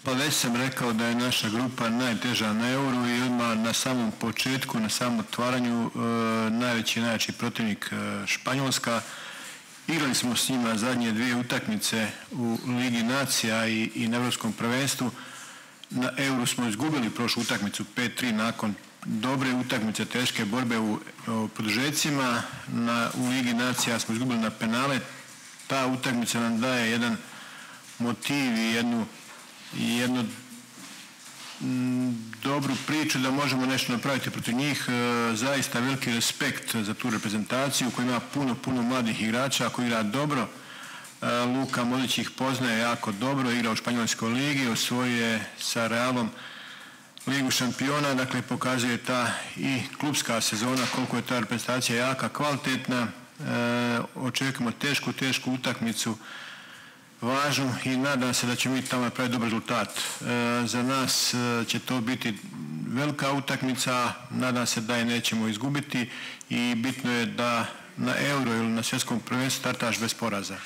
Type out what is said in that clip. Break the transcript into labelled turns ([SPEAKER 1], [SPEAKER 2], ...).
[SPEAKER 1] Pa već sam rekao da je naša grupa najteža na Euru i odmah na samom početku, na samom otvaranju najveći protivnik Španjolska. Igrali smo s njima zadnje dvije utakmice u Ligi nacija i na Europskom prvenstvu. Na Euru smo izgubili prošlu utakmicu 5-3 nakon dobre utakmice, teške borbe u produžecima. U Ligi nacija smo izgubili na penale. Ta utakmica nam daje jedan motiv i jednu dobru priču da možemo nešto napraviti protiv njih. Zaista veliki respekt za tu reprezentaciju koja ima puno mladih igrača koji igra dobro. Luka Modrić ih poznaje jako dobro, igra u Španjolskoj ligi, osvojio je sa Realom Ligu šampiona, dakle pokazuje ta i klubska sezona koliko je ta reprezentacija jaka, kvalitetna. Očekujemo tešku utakmicu, važnu i nadam se da ćemo mi tamo napraviti dobar rezultat. Za nas će to biti velika utakmica, nadam se da je nećemo izgubiti i bitno je da na Euro ili na svjetskom prvenstvu startaš bez poraza.